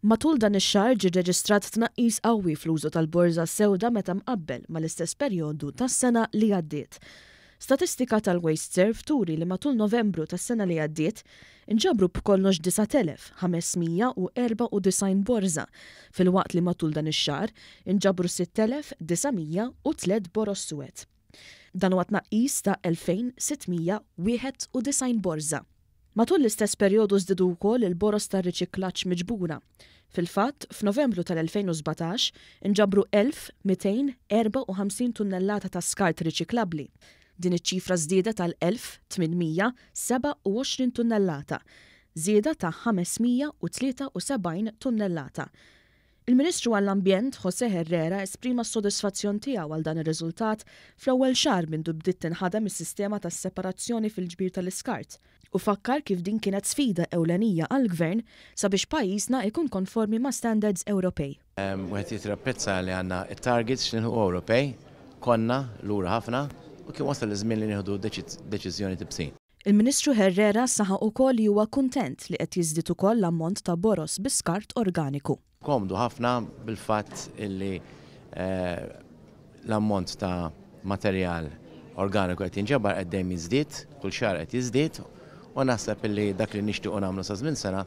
Matul dan ix-xahar ġie rreġistrat tnaqqis qawwi fl-użu tal-borża s-sewda meta mqabbel mal-istess perjodu tas-sena li għaddiet. Statistika tal-WasteServ turi li matul Novembru tas-sena li għaddiet, inġabru b'kollox 9,594 borża, filwaqt li matul dan ix-xahar inġabru 6,903 boroż suwed. Dan huwa tnaqqis ta' 2,691 borża. Matul l-istess perjodu żdiedu wkoll il-boroż tar-riċiklaġġ miġbura. Fil-fatt, f'Novembru tal-2017 inġabru 1,254 tunnellata ta' skart riċiklabbli. Din iċ-ċifra żdiedet għal 1,827 tunnellata, żieda ta' 573 tunnellata. Il-Ministru għall-Ambjent, José Herrera esprima s-sodisfazzjon tiegħu għal dan ir-riżultat fl-ewwel xahar mindu bdiet tinħadem is-sistema tas-separazzjoni fil-ġbir tal-iskart u fakkar kif din kienet sfida ewlenija għall-Gvern sabiex pajjiżna ikun konformi ma' standards Ewropej. Wieħed irid japprezza li għandna t-targets x'nilħqu Ewropej, konna lura ħafna u kien wasal iż-żmien li nieħdu deċiżjoni tibsin. Il-Ministru Herrera saħaq ukoll li huwa kuntent li qed jiżdied ukoll l-ammont ta' boroż bi skart organiku. Komdu ħafna bil-fatt illi l-ammont ta' materjal organiku qed jinġabar qed dejjem jiżdied, kull xahar qed jiżdied u naħseb illi dak li nixtiequ nagħmlu sa żmien sena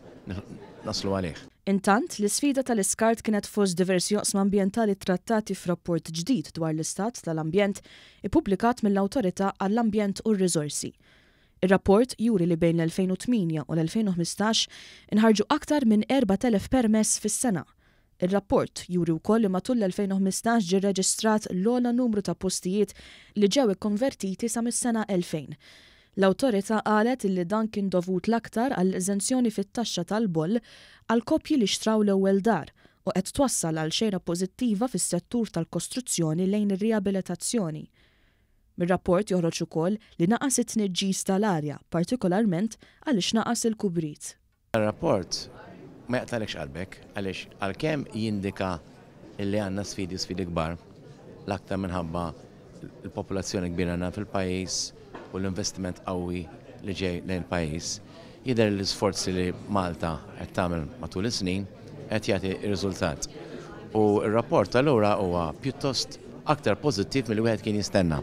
naslu għalih. Intant, l-isfida tal-iskart kienet fost diversi oqsma ambjentali ttrattati f'rapport ġdid dwar l-istat tal-ambjent ippubblikat mill-Awtorità għall-Ambjent u r-Riżorsi. Ir-rapport juri li bejn l-2008 u l-2015 inħarġu aktar minn 4,000 permess fis-sena. Ir-rapport juri wkoll li matul l-2015 ġie rreġistrat l-ogħla numru ta' postijiet li ġew ikkonvertiti sa mis-sena 2000. L-Awtorità qalet illi dan kien dovut l-aktar għall-eżenzjoni fit-taxxa tal-boll għal koppji li xtraw l-ewwel dar u qed twassal għal xejra pożittiva fis-settur tal-kostruzzjoni lejn ir-riabilitazzjoni. Mir-rapport joħroġ ukoll li naqas it-tniġġis tal-arja, partikolarment għaliex naqas il-kubrit. Ir-rapport ma jaqtagħlekx qalbek għaliex għalkemm jindika li għandna sfidi u sfidi kbar, l-aktar minħabba l-popolazzjoni kbira li għandna fil-pajjiż u l-investiment qawwi li ġej lejn il-pajjiż, jidher li l-isforzi li Malta qed tagħmel matul is-snin qed jagħti r-riżultat. U r-rapport allura huwa pjuttost aktar pożittiv milli wieħed kien jistenna.